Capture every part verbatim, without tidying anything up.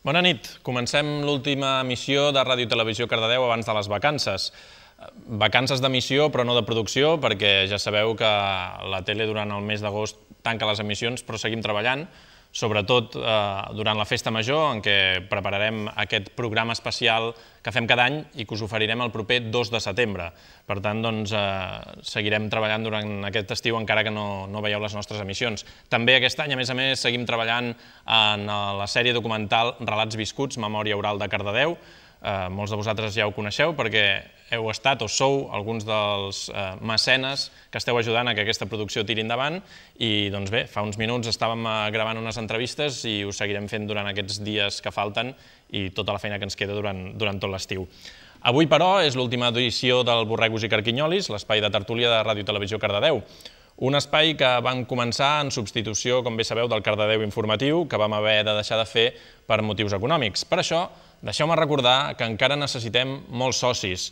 Bona nit. Comencem l'última emissió de Ràdio Televisió Cardedeu abans de les vacances. Vacances d'emissió, però no de producció, perquè ja sabeu que la tele durant el mes d'agost tanca les emissions, però seguim treballant, sobretot durant la Festa Major, en què prepararem aquest programa especial que fem cada any i que us oferirem el proper dos de setembre. Per tant, doncs, seguirem treballant durant aquest estiu, encara que no veieu les nostres emissions. També aquest any, a més a més, seguim treballant en la sèrie documental Relats viscuts, Memòria oral de Cardedeu. Molts de vosaltres ja ho coneixeu perquè heu estat o sou alguns dels mecenes que esteu ajudant a que aquesta producció tiri endavant i doncs bé, fa uns minuts estàvem gravant unes entrevistes i ho seguirem fent durant aquests dies que falten i tota la feina que ens queda durant tot l'estiu. Avui, però, és l'última edició del Borregos i Carquinyolis, l'espai de tertúlia de Ràdio Televisió Cardedeu. Un espai que vam començar en substitució, com bé sabeu, del Cardedeu Informatiu, que vam haver de deixar de fer per motius econòmics. Per això, deixeu-me recordar que encara necessitem molts socis.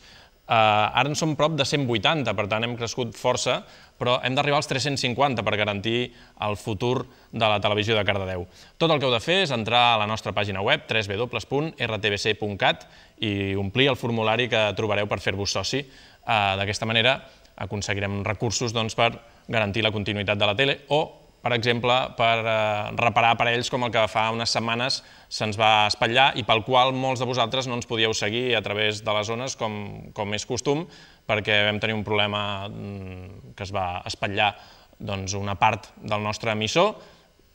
Ara en som prop de cent vuitanta, per tant hem crescut força, però hem d'arribar als tres-cents cinquanta per garantir el futur de la televisió de Cardedeu. Tot el que heu de fer és entrar a la nostra pàgina web, w w w punt r t b c punt cat, i omplir el formulari que trobareu per fer-vos soci. D'aquesta manera aconseguirem recursos per garantir la continuïtat de la tele o, per exemple, per reparar aparells com el que fa unes setmanes se'ns va espatllar i pel qual molts de vosaltres no ens podíeu seguir a través de les zones com és costum, perquè vam tenir un problema que es va espatllar una part del nostre emissor.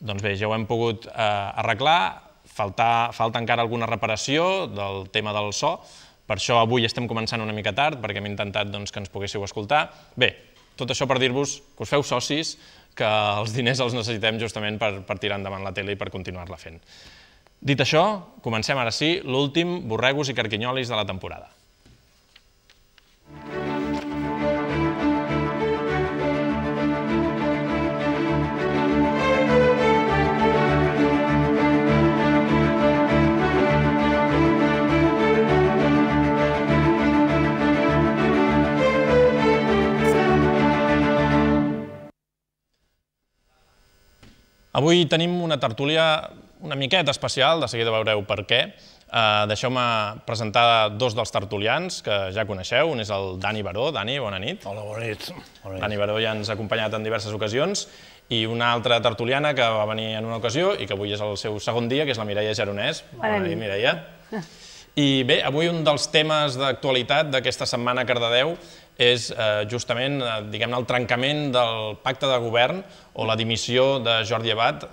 Doncs bé, ja ho hem pogut arreglar, falta encara alguna reparació del tema del so, per això avui estem començant una mica tard, perquè hem intentat que ens poguéssiu escoltar. Bé, tot això per dir-vos que us feu socis, que els diners els necessitem justament per tirar endavant la tele i per continuar-la fent. Dit això, comencem ara sí l'últim Borregos i Carquinyolis de la temporada. Avui tenim una tertúlia una miqueta especial, de seguida veureu per què. Deixeu-me presentar dos dels tertulians que ja coneixeu. Un és el Dani Baró. Dani, bona nit. Hola, bona nit. Dani Baró ja ens ha acompanyat en diverses ocasions. I una altra tertuliana que va venir en una ocasió i que avui és el seu segon dia, que és la Mireia Geronès. Bona nit, Mireia. I bé, avui un dels temes d'actualitat d'aquesta setmana a Cardedeu és justament, diguem-ne, el trencament del pacte de govern o la dimissió de Jordi Abad,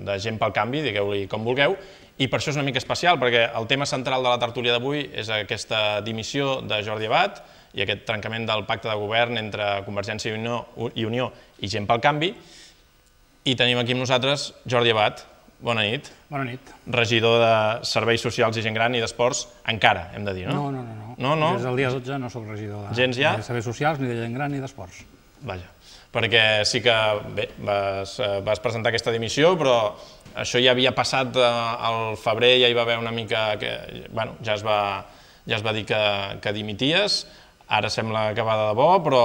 de Gent pel Canvi, digueu-li com vulgueu, i per això és una mica especial, perquè el tema central de la tertúlia d'avui és aquesta dimissió de Jordi Abad i aquest trencament del pacte de govern entre Convergència i Unió i Gent pel Canvi, i tenim aquí amb nosaltres Jordi Abad. Bona nit. Bona nit. Regidor de Serveis Socials i Gent Gran i d'Esports, encara, hem de dir, no? No, no, no. Des del dia dotze no soc regidor de Serveis Socials, ni de Gent Gran, ni d'Esports. Vaja, perquè sí que, bé, vas presentar aquesta dimissió, però això ja havia passat al febrer, ja hi va haver una mica que, bueno, ja es va dir que dimities. Ara sembla que va de debò, però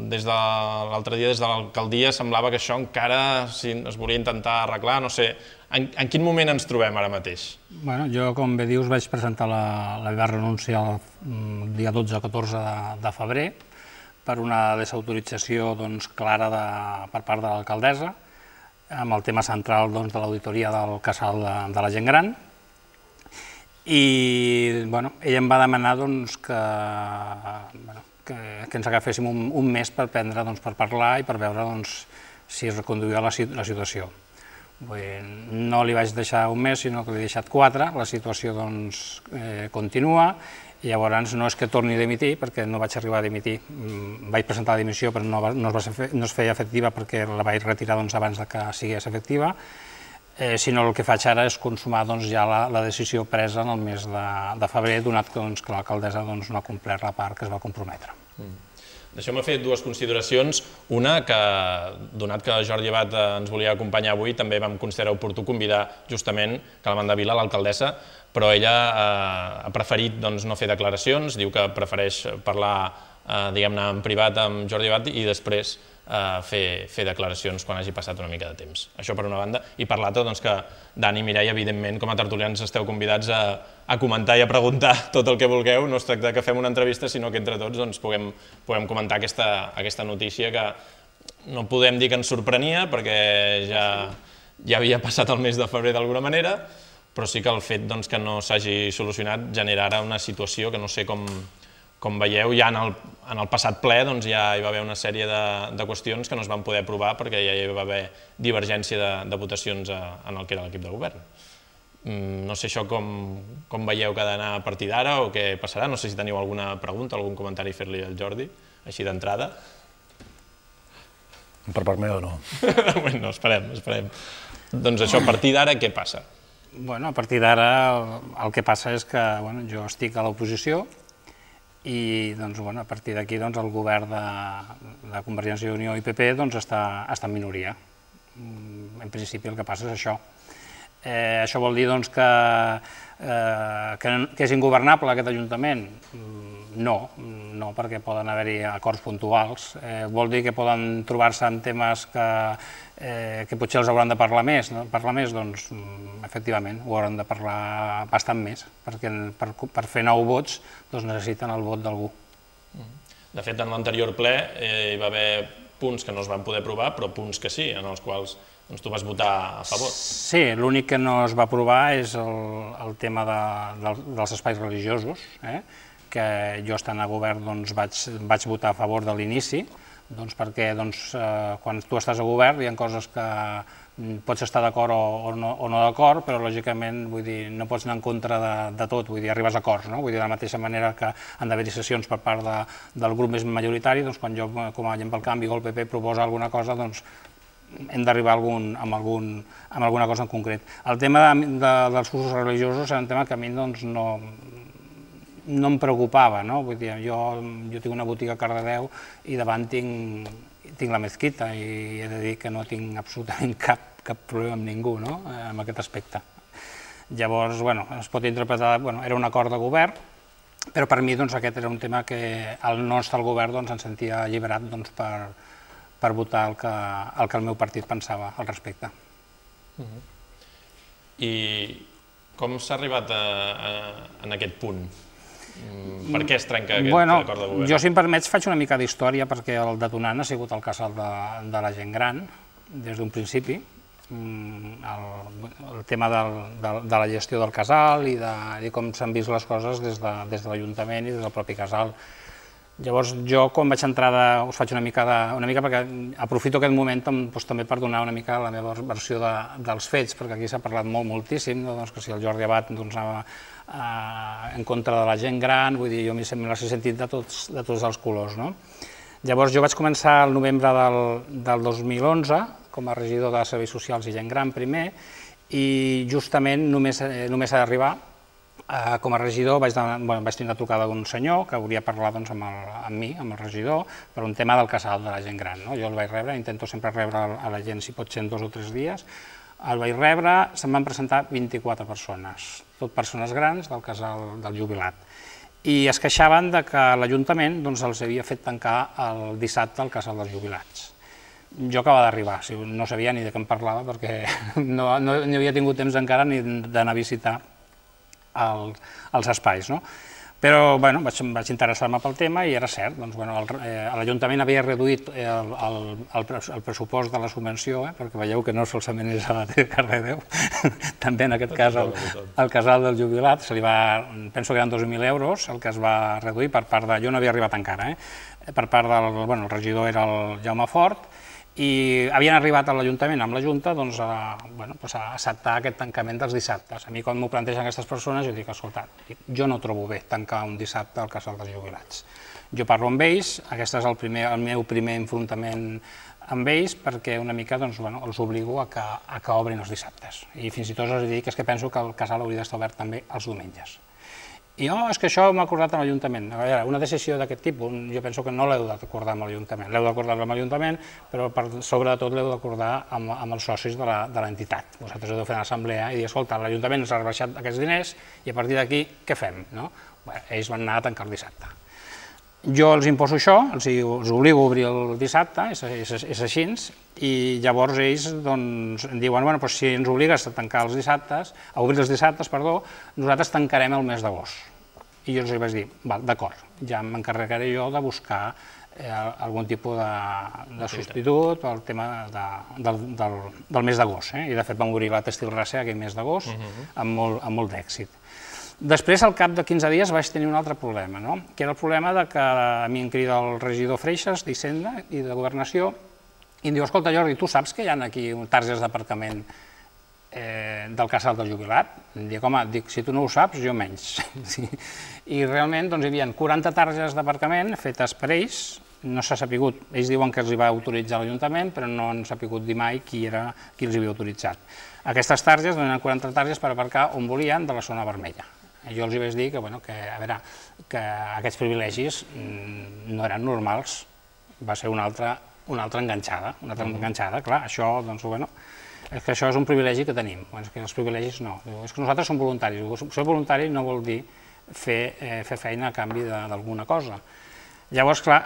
des de l'altre dia, des de l'alcaldia, semblava que això encara es volia intentar arreglar, no sé. En quin moment ens trobem ara mateix? Bé, jo, com bé dius, vaig presentar la meva renúncia el dia dotze o catorze de febrer per una desautorització clara per part de l'alcaldessa amb el tema central de l'auditoria del casal de la gent gran. I ella em va demanar que ens agaféssim un mes per prendre, per parlar i per veure si es reconduïa la situació. No li vaig deixar un mes, sinó que li he deixat quatre. La situació continua i llavors no és que torni a dimitir, perquè no vaig arribar a dimitir. Vaig presentar la dimissió però no es feia efectiva perquè la vaig retirar abans que sigués efectiva, sinó el que faig ara és consumar ja la decisió presa en el mes de febrer, donat que l'alcaldessa no ha complert la part que es va comprometre. Deixeu-me fer dues consideracions. Una, que donat que Jordi Abad ens volia acompanyar avui, també vam considerar oportú convidar justament que la Mandavila, l'alcaldessa, però ella ha preferit no fer declaracions, diu que prefereix parlar, diguem-ne, en privat amb Jordi Abad i després fer declaracions quan hagi passat una mica de temps. Això per una banda. I per l'altra, que Dani i Mireia, evidentment, com a tertulians esteu convidats a comentar i a preguntar tot el que vulgueu. No es tracta que fem una entrevista, sinó que entre tots puguem comentar aquesta notícia que no podem dir que ens sorprenia, perquè ja havia passat el mes de febrer d'alguna manera, però sí que el fet que no s'hagi solucionat genera ara una situació que no sé com Com veieu, ja en el passat ple ja hi va haver una sèrie de qüestions que no es van poder aprovar perquè ja hi va haver divergència de votacions en el que era l'equip de govern. No sé això com veieu que ha d'anar a partir d'ara o què passarà. No sé si teniu alguna pregunta, algun comentari a fer-li al Jordi, així d'entrada. Per part meva no. No, esperem, esperem. Doncs això, a partir d'ara què passa? Bueno, a partir d'ara el que passa és que jo estic a l'oposició i a partir d'aquí el govern de Convergència i Unió i P P està en minoria. En principi el que passa és això. Això vol dir que és ingovernable aquest Ajuntament? No, no, perquè poden haver-hi acords puntuals. Vol dir que poden trobar-se en temes que potser els hauran de parlar més? Doncs, efectivament, ho hauran de parlar bastant més, perquè per fer nou vots necessiten el vot d'algú. De fet, en l'anterior ple hi va haver punts que no es van poder aprovar, però punts que sí, en els quals tu vas votar a favor. Sí, l'únic que no es va aprovar és el tema dels espais religiosos, que jo estant a govern vaig votar a favor de l'inici, perquè quan tu estàs a govern hi ha coses que pots estar d'acord o no d'acord, però lògicament no pots anar en contra de tot, vull dir, arribes a acords, no? Vull dir, de la mateixa manera que han d'haver-hi sessions per part del grup més majoritari, doncs quan jo, com a gent pel canvi o el P P proposa alguna cosa, doncs hem d'arribar amb alguna cosa en concret. El tema dels usos religiosos era un tema que a mi no no em preocupava, no? Vull dir, jo tinc una botiga a Cardedeu i davant tinc la mezquita i he de dir que no tinc absolutament cap problema amb ningú, no?, en aquest aspecte. Llavors, bueno, es pot interpretar, bueno, era un acord de govern, però per mi aquest era un tema que el no estar al govern em sentia alliberat per votar el que el meu partit pensava al respecte. I com s'ha arribat en aquest punt? Per què es trenca aquest acord de govern? Jo, si em permets, faig una mica d'història perquè el detonant ha sigut el casal de la gent gran, des d'un principi, el tema de la gestió del casal i de com s'han vist les coses des de l'Ajuntament i des del propi casal. Llavors, jo, quan vaig entrar, us faig una mica, perquè aprofito aquest moment també per donar una mica la meva versió dels fets, perquè aquí s'ha parlat molt, moltíssim, que si el Jordi Abad anava en contra de la gent gran, vull dir, jo m'he sentit de tots els colors. Llavors, jo vaig començar el novembre del dos mil onze com a regidor de Serveis Socials i Gent Gran primer, i justament només ha d'arribar com a regidor vaig tenir una trucada d'un senyor que volia parlar amb mi, amb el regidor, per un tema del casal de la gent gran. Jo el vaig rebre, intento sempre rebre a la gent si pot ser en dos o tres dies, el vaig rebre, se'm van presentar vint-i-quatre persones, tot persones grans del casal del jubilat, i es queixaven que l'Ajuntament els havia fet tancar el dissabte al casal dels jubilats. Jo acabava d'arribar, no sabia ni de què em parlava perquè no havia tingut temps encara ni d'anar a visitar els espais. Però vaig interessar-me pel tema i era cert. L'Ajuntament havia reduït el pressupost de la subvenció, perquè veieu que no solament és a la T de Cardedeu, també en aquest cas al casal del jubilat, penso que eren dos mil euros el que es va reduir per part de... Jo no havia arribat encara, per part del... el regidor era el Jaume Fort, i havien arribat a l'Ajuntament amb la Junta a acceptar aquest tancament dels dissabtes. A mi, quan m'ho plantegen aquestes persones, jo dic, escolta, jo no trobo bé tancar un dissabte al casal dels jubilats. Jo parlo amb ells, aquest és el meu primer enfrontament amb ells, perquè una mica els obligo a que obrin els dissabtes. I fins i tot els dic que penso que el casal hauria d'estar obert també els diumenges. I no, és que això m'ha acordat amb l'Ajuntament. Una decisió d'aquest tipus, jo penso que no l'heu d'acordar amb l'Ajuntament. L'heu d'acordar amb l'Ajuntament, però sobretot l'heu d'acordar amb els socis de l'entitat. Vosaltres heu de fer una assemblea i dir, escolta, l'Ajuntament ens ha rebaixat aquests diners i a partir d'aquí què fem? Ells van anar a tancar el dissabte. Jo els imposo això, els obligo a obrir el dissabte, és així, i llavors ells em diuen, bueno, si ens obligues a tancar els dissabtes, a obrir els dissabtes, perdó, nosaltres tancarem el mes d'agost. I jo els vaig dir, d'acord, ja m'encarregaré jo de buscar algun tipus de substitut pel tema del mes d'agost. I de fet vam obrir la Tèxtil Racer aquell mes d'agost amb molt d'èxit. Després, al cap de quinze dies, vaig tenir un altre problema, que era el problema que a mi em crida el regidor Freixas d'Hisenda i de Governació i em diu, escolta Jordi, tu saps que hi ha aquí targes d'aparcament del casal del jubilat? Dic, home, si tu no ho saps, jo menys. I realment hi havia quaranta targes d'aparcament fetes per ells, no s'ha sapigut, ells diuen que els hi va autoritzar l'Ajuntament, però no han sapigut dir mai qui els havia autoritzat. Aquestes targes donen quaranta targes per aparcar on volien de la zona vermella. Jo els vaig dir que, a veure, que aquests privilegis no eren normals, va ser una altra enganxada, una altra enganxada, clar, això, doncs, bueno, és que això és un privilegi que tenim, és que els privilegis no, és que nosaltres som voluntaris, ser voluntari no vol dir fer feina a canvi d'alguna cosa. Llavors, clar,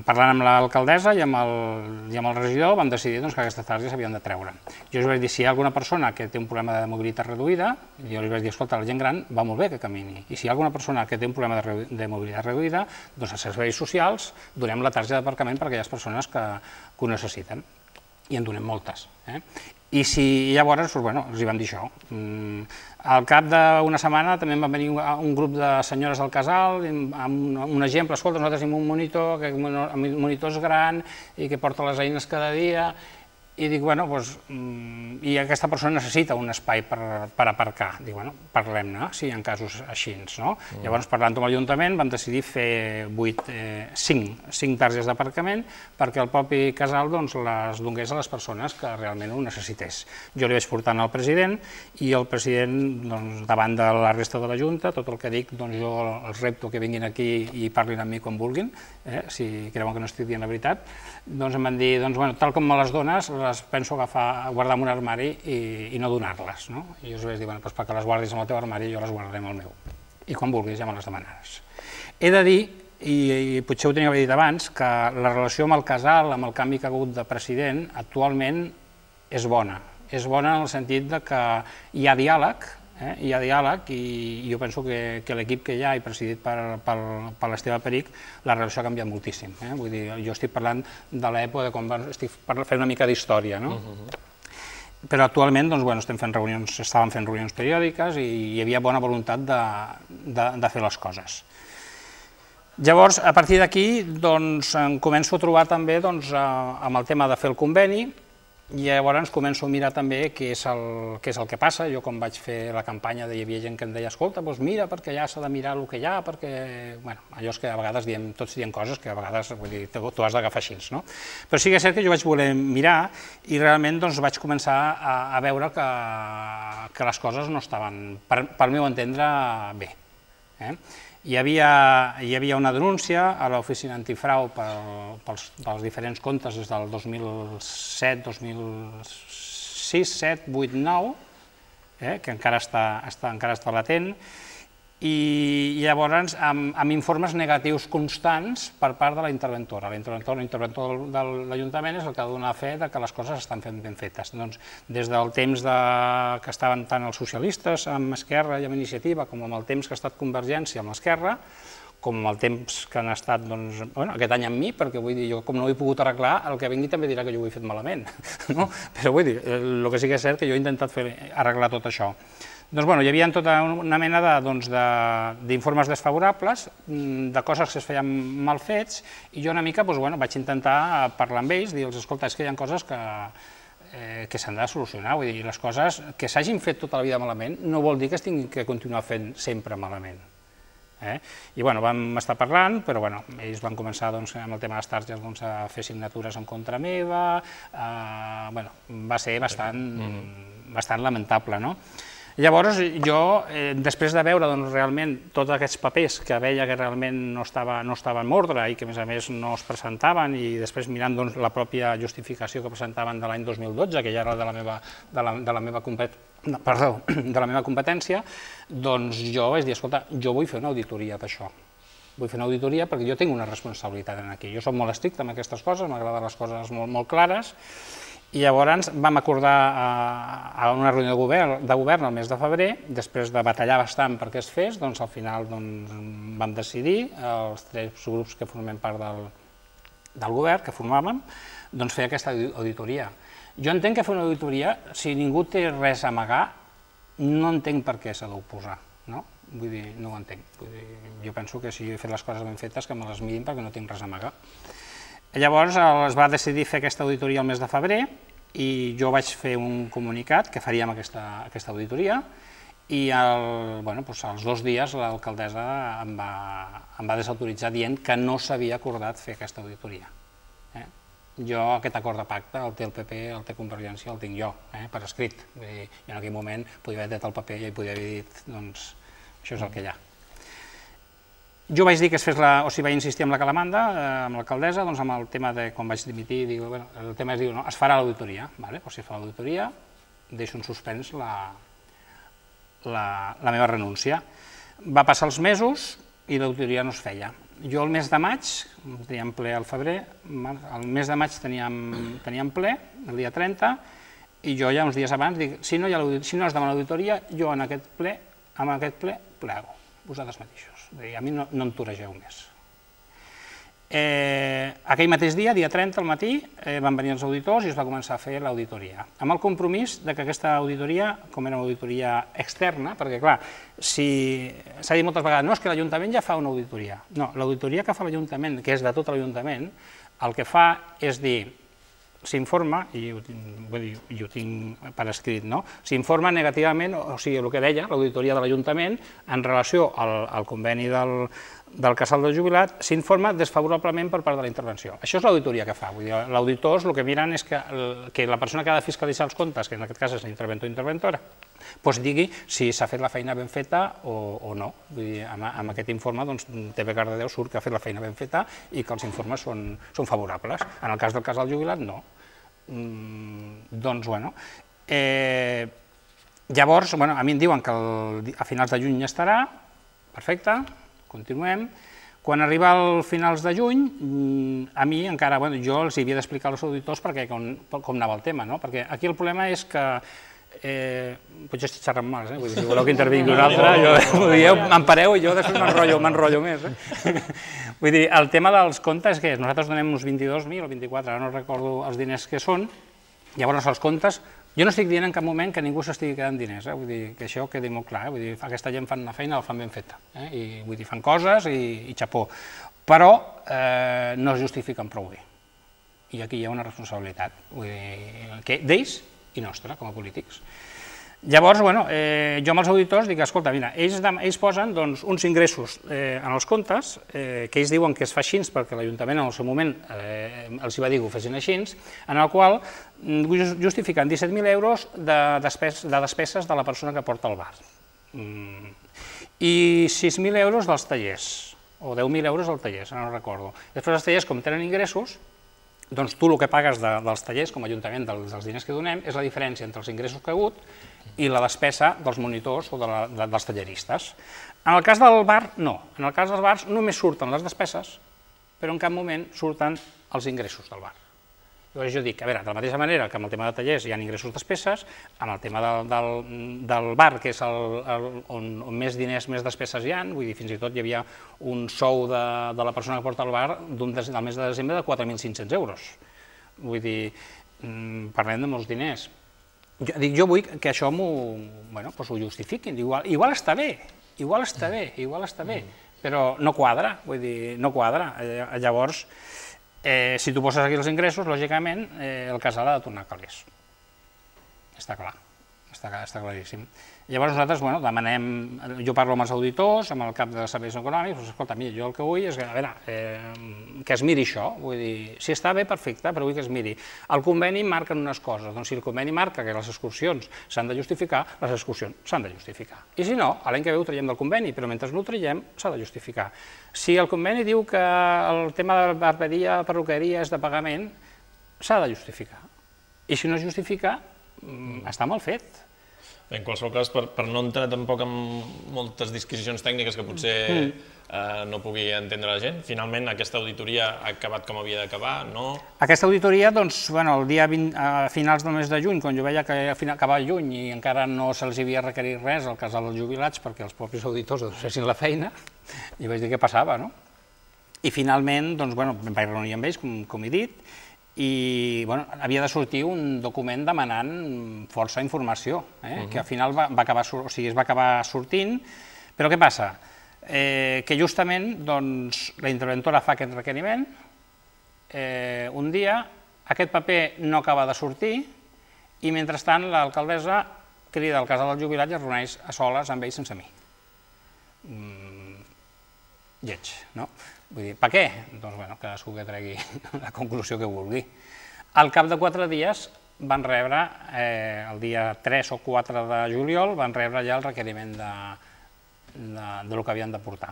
parlant amb l'alcaldessa i amb el regidor vam decidir que aquestes targes s'havien de treure. Jo els vaig dir, si hi ha alguna persona que té un problema de mobilitat reduïda, jo els vaig dir, escolta, la gent gran va molt bé que camini, i si hi ha alguna persona que té un problema de mobilitat reduïda, doncs als serveis socials donem la targeta d'aparcament per a aquelles persones que ho necessiten, i en donem moltes. I llavors els vam dir això. Al cap d'una setmana també va venir un grup de senyores del casal amb un exemple, escolta, nosaltres tenim un monitor, que el monitor és gran i que porta les eines cada dia, i dic, bueno, i aquesta persona necessita un espai per aparcar. Dic, bueno, parlem-ne, si hi ha casos així, no? Llavors, parlant amb l'Ajuntament, vam decidir fer cinc targes d'aparcament perquè el propi casal les donés a les persones que realment ho necessités. Jo li vaig portar al president i el president, davant de la resta de la Junta, tot el que dic, jo els repto que vinguin aquí i parlin amb mi quan vulguin, si creuen que no estic dient la veritat, doncs em van dir, tal com me les dones, les penso agafar, guardar en un armari i no donar-les. I jo us vaig dir, doncs perquè les guardis en el teu armari, jo les guardaré en el meu. I quan vulguis ja me les demanaràs. He de dir, i potser ho tenia que haver dit abans, que la relació amb el casal, amb el canvi que ha hagut de president, actualment és bona. És bona en el sentit que hi ha diàleg, hi ha diàleg i jo penso que l'equip que hi ha i presidit per l'Esteve Peric, la relació ha canviat moltíssim. Vull dir, jo estic parlant de l'època de quan estic fent una mica d'història, no? Però actualment estem fent reunions, estàvem fent reunions periòdiques i hi havia bona voluntat de fer les coses. Llavors, a partir d'aquí, em començo a trobar també amb el tema de fer el conveni. I llavors començo a mirar també què és el que passa. Jo quan vaig fer la campanya hi havia gent que em deia, escolta, doncs mira, perquè allà s'ha de mirar el que hi ha, perquè... Allò és que a vegades tots diem coses que a vegades t'ho has d'agafar així, no? Però sí que és cert que jo vaig voler mirar i realment vaig començar a veure que les coses no estaven, pel meu entendre, bé. Hi havia una denúncia a l'oficina antifrau pels diferents comptes des del dos mil set, dos mil sis, set, vuit, nou, que encara està latent, i llavors amb informes negatius constants per part de la interventora. L'interventor de l'Ajuntament és el que ha de donar fe que les coses estan ben fetes. Des del temps que estaven tant els socialistes amb Esquerra i amb Iniciativa, com amb el temps que ha estat Convergència amb l'Esquerra, com amb el temps que han estat aquest any amb mi, perquè vull dir, jo com no ho he pogut arreglar, el que vingui també dirà que jo ho he fet malament. Però vull dir, el que sí que és cert que jo he intentat arreglar tot això. Doncs hi havia tota una mena d'informes desfavorables, de coses que es feien mal fets, i jo una mica vaig intentar parlar amb ells, dir-los, escolta, és que hi ha coses que s'han de solucionar, vull dir, les coses que s'hagin fet tota la vida malament no vol dir que es tinguin que continuar fent sempre malament. I vam estar parlant, però ells van començar amb el tema de les targes a fer signatures en contra meva, va ser bastant lamentable, no? Llavors, jo, després de veure realment tots aquests papers que veia que realment no estaven en ordre i que, a més a més, no es presentaven, i després mirant la pròpia justificació que presentaven de l'any dos mil dotze, que ja era de la meva competència, doncs jo vaig dir, escolta, jo vull fer una auditoria d'això. vull fer una auditoria perquè jo tinc una responsabilitat aquí. Jo soc molt estricte amb aquestes coses, m'agraden les coses molt, molt clares, i llavors vam acordar a una reunió de govern, de govern el mes de febrer, després de batallar bastant perquè es fes, doncs al final doncs, vam decidir, els tres grups que formem part del, del govern, que formàvem, doncs fer aquesta auditoria. Jo entenc que fer una auditoria, si ningú té res a amagar, no entenc per què s'ha d'oposar, no? Vull dir, no ho entenc. Vull dir, jo penso que si he fet les coses ben fetes, que me les mirin perquè no tinc res a amagar. Llavors es va decidir fer aquesta auditoria el mes de febrer i jo vaig fer un comunicat que faríem aquesta, aquesta auditoria i el, bueno, doncs als dos dies l'alcaldessa em, va, em va desautoritzar dient que no s'havia acordat fer aquesta auditoria. Eh? Jo aquest acord de pacte el té el P P, el té Convergència, el tinc jo, eh, per escrit. Vull dir, jo en aquell moment podia haver tret el paper i podia haver dit, doncs, això és el que hi ha. Jo vaig dir que es fes la, o sigui, vaig insistir amb la calamanda, eh, amb l'alcaldessa, doncs amb el tema de quan vaig dimitir, diu, bueno, el tema és dir, no, es farà l'auditoria, vale? O si es fa l'auditoria, deixo en suspens la, la, la meva renúncia. Va passar els mesos i l'auditoria no es feia. Jo el mes de maig, teníem ple al febrer, el mes de maig teníem, teníem ple, el dia trenta, i jo ja uns dies abans dic, si no, hi ha si no es demana l'auditoria, jo en aquest ple, en aquest ple, plego, vosaltres mateixos. A mi no, no em toregeu més. Eh, aquell mateix dia, dia trenta, al matí, eh, van venir els auditors i es va començar a fer l'auditoria. Amb el compromís de que aquesta auditoria, com era una auditoria externa, perquè clar, si s'ha dit moltes vegades, no, és que l'Ajuntament ja fa una auditoria. No, l'auditoria que fa l'Ajuntament, que és de tot l'Ajuntament, el que fa és dir, s'informa, i ho, vull dir, jo ho tinc per escrit, no? S'informa negativament, o sigui, el que deia l'auditoria de l'Ajuntament en relació al, al conveni del, del casal del jubilat, s'informa desfavorablement per part de la intervenció. Això és l'auditoria que fa. Vull dir, l'auditors el que miren és que, que la persona que ha de fiscalitzar els comptes, que en aquest cas és l'interventor o interventora, doncs digui si s'ha fet la feina ben feta o, o no. Vull dir, amb, amb aquest informe, doncs, T V Cardedeu surt que ha fet la feina ben feta i que els informes són, són favorables. En el cas del casal jubilat, no. Mm, doncs, bueno, eh, llavors, bueno, a mi em diuen que el, a finals de juny ja estarà, perfecte, continuem. Quan arriba al finals de juny, a mi encara, bueno, jo els havia d'explicar als auditors perquè com, com anava el tema, no? Perquè aquí el problema és que Eh, potser estic xerrant mal, eh? Vull dir, si voleu que intervingui un altre, jo, dieu, m'empareu i jo després m'enrotllo, m'enrotllo més. Eh? Vull dir, el tema dels comptes que és, nosaltres donem uns vint-i-dos mil o vint-i-quatre, ara no recordo els diners que són, llavors els comptes, jo no estic dient en cap moment que ningú s'estigui quedant diners, eh? Vull dir, que això quedi molt clar, eh? Vull dir, aquesta gent fan una feina, la fan ben feta, eh? I vull dir, fan coses i, i xapó, però eh, no es justifiquen prou bé, i aquí hi ha una responsabilitat, vull dir, que d'ells i nostra, com a polítics. Llavors, bueno, eh, jo amb els auditors dic, escolta, mira, ells, ells posen doncs, uns ingressos eh, en els comptes, eh, que ells diuen que es fa així perquè l'Ajuntament en el seu moment eh, els va dir que ho fessin així, en el qual justifiquen disset mil euros de, despes, de despeses de la persona que porta el bar. Mm. I sis mil euros dels tallers, o deu mil euros dels tallers, no recordo. Després els tallers, com tenen ingressos, doncs tu el que pagues de, dels tallers com a Ajuntament dels, dels diners que donem és la diferència entre els ingressos que ha hagut i la despesa dels monitors o de la, de, dels talleristes. En el cas del bar, no. En el cas dels bars només surten les despeses, però en cap moment surten els ingressos del bar. Llavors jo dic, a veure, de la mateixa manera que amb el tema de tallers hi ha ingressos despeses, amb el tema del, del, del bar, que és el, el, on, on més diners, més despeses hi ha, vull dir, fins i tot hi havia un sou de, de la persona que porta el bar del mes de desembre de quatre mil cinc-cents euros. Vull dir, parlem de molts diners. Jo, dic, jo vull que això m'ho bueno, pues ho justifiquin, igual, igual està bé, igual està bé, igual està bé, però no quadra, vull dir, no quadra. Llavors, Eh, si tu poses aquí els ingressos, lògicament, eh, el casal ha de tornar calés. Està clar, està, està claríssim. Llavors nosaltres, bueno, demanem, jo parlo amb els auditors, amb el cap de serveis econòmics, doncs, escolta, mira, jo el que vull és que, a veure, eh, que es miri això, vull dir, si està bé, perfecte, però vull que es miri. El conveni marca unes coses, doncs si el conveni marca que les excursions s'han de justificar, les excursions s'han de justificar. I si no, l'any que ve ho traiem del conveni, però mentre no ho traiem s'ha de justificar. Si el conveni diu que el tema de barberia, perruqueria és de pagament, s'ha de justificar. I si no es justifica, està mal fet. En qualsevol cas, per no entrar tampoc en moltes disquisicions tècniques que potser no pugui entendre la gent, finalment aquesta auditoria ha acabat com havia d'acabar, no? Aquesta auditoria, doncs, el dia a finals del mes de juny, quan jo veia que acabava juny i encara no se'ls havia requerit res al casal dels jubilats perquè els propis auditors fessin la feina, i vaig dir què passava, no? I finalment, doncs, bueno, em vaig reunir amb ells, com he dit, i havia de sortir un document demanant força informació, que al final va acabar sortint, però què passa? Que justament la interventora fa aquest requeriment, un dia aquest paper no acaba de sortir i mentrestant l'alcaldessa crida al casal dels jubilats i es reuneix a soles amb ells sense mi. Lleig, no? Vull dir, per què? Doncs, bueno, cadascú que tregui la conclusió que vulgui. Al cap de quatre dies van rebre, el dia tres o quatre de juliol, van rebre ja el requeriment del que havien de portar.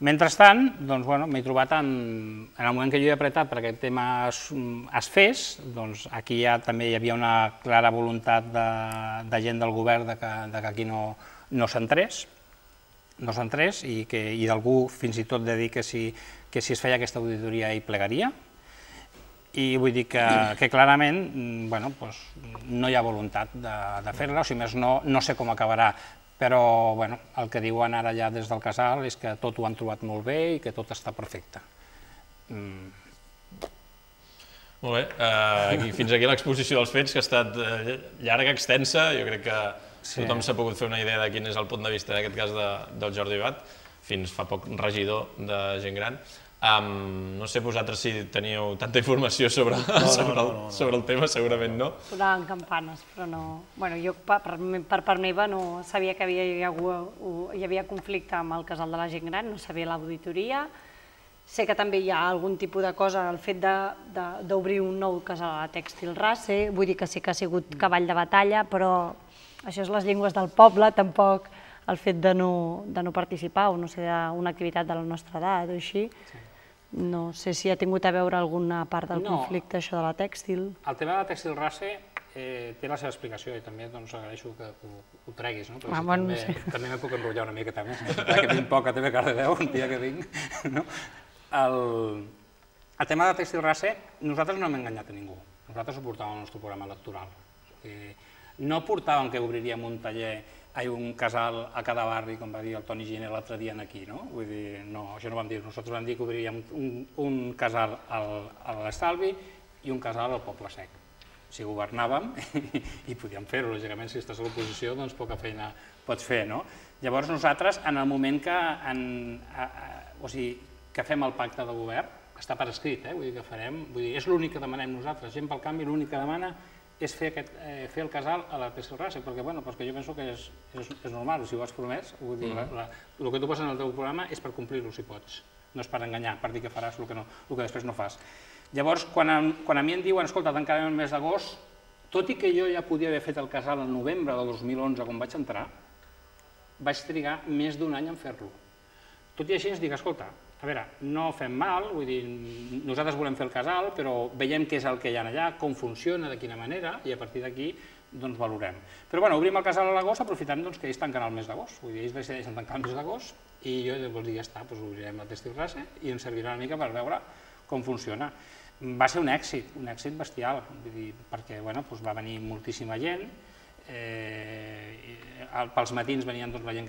Mentrestant, doncs, bueno, m'he trobat en el moment que jo he apretat perquè aquest tema es fes, doncs aquí ja també hi havia una clara voluntat de gent del govern que aquí no s'entrés, no s'entrés i d'algú fins i tot de dir que si es feia aquesta auditoria hi plegaria. I vull dir que clarament no hi ha voluntat de fer-la, o si més no, no sé com acabarà, però el que diuen ara ja des del casal és que tot ho han trobat molt bé i que tot està perfecte. Molt bé, fins aquí l'exposició dels fets, que ha estat llarga, extensa, jo crec que tothom s'ha pogut fer una idea de quin és el punt de vista, en aquest cas, del Jordi Bat, fins fa poc regidor de Gent Gran. No sé vosaltres si teníeu tanta informació sobre el tema, segurament no. Sonaven campanes, però no... Bé, jo per part meva no sabia que hi havia conflicte amb el casal de la Gent Gran, no sabia l'auditoria. Sé que també hi ha algun tipus de cosa, el fet d'obrir un nou casal a la Tèxtil Race, vull dir que sí que ha sigut cavall de batalla, però això és les llengües del poble, tampoc el fet de no participar o no ser una activitat de la nostra edat o així. No sé si ha tingut a veure alguna part del conflicte, això de la tèxtil. El tema de la Tèxtil Race té la seva explicació i també agraeixo que ho treguis, perquè també me puc enrotllar una miqueta més, que tinc poc a T V Cardedeu, un dia que tinc. El tema de la Tèxtil Race, nosaltres no hem enganyat a ningú, nosaltres ho portàvem al nostre programa electoral. No portàvem que obriríem un taller hi ha un casal a cada barri, com va dir el Toni Giner l'altre dia aquí, no? Vull dir, no, això no vam dir, nosaltres vam dir que obriríem un casal a l'Estalvi i un casal al Poble Sec. Si governàvem i podíem fer-ho, lògicament, si estàs a l'oposició, doncs poca feina pots fer, no? Llavors nosaltres, en el moment que fem el pacte de govern, està per escrit, vull dir que farem, vull dir, és l'únic que demanem nosaltres, Gent pel Canvi, l'únic que demana és fer el casal a la Tèxtil Race, perquè jo penso que és normal, si ho has promès, el que tu poses en el teu programa és per complir-ho, si pots, no és per enganyar, per dir que faràs el que després no fas. Llavors, quan a mi em diuen, escolta, tancarem el mes d'agost, tot i que jo ja podia haver fet el casal el novembre del dos mil onze, quan vaig entrar, vaig trigar més d'un any en fer-lo. Tot i així ens dic, escolta, a veure, no fem mal, vull dir, nosaltres volem fer el casal, però veiem què és el que hi ha allà, com funciona, de quina manera, i a partir d'aquí, doncs, valorem. Però, bueno, obrim el casal a l'agost, aprofitant que ells tanquen el mes d'agost, vull dir, ells decideixen tancar el mes d'agost, i jo llavors dic, ja està, doncs obrirem la Tèxtil Race i ens servirà una mica per veure com funciona. Va ser un èxit, un èxit bestial, vull dir, perquè, bueno, va venir moltíssima gent, pels matins venien la gent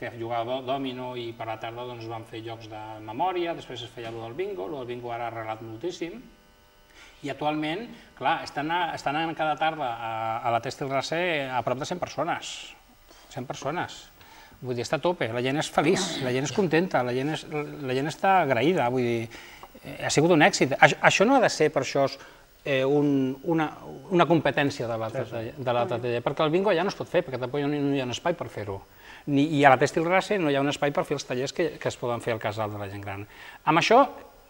que jugava dòmino i per la tarda van fer jocs de memòria, després es feia el del bingo, el del bingo ara ha arreglat moltíssim, i actualment, clar, estan anant cada tarda a la Tèxtil Race a prop de cent persones, cent persones, vull dir, està a tope, la gent és feliç, la gent és contenta, la gent està agraïda, vull dir, ha sigut un èxit. Això no ha de ser per això una competència de l'altre taller, perquè el bingo allà no es pot fer, perquè tampoc no hi ha un espai per fer-ho. I a la Tèxtil Race no hi ha un espai per fer els tallers que es poden fer al casal de la Gent Gran. Amb això,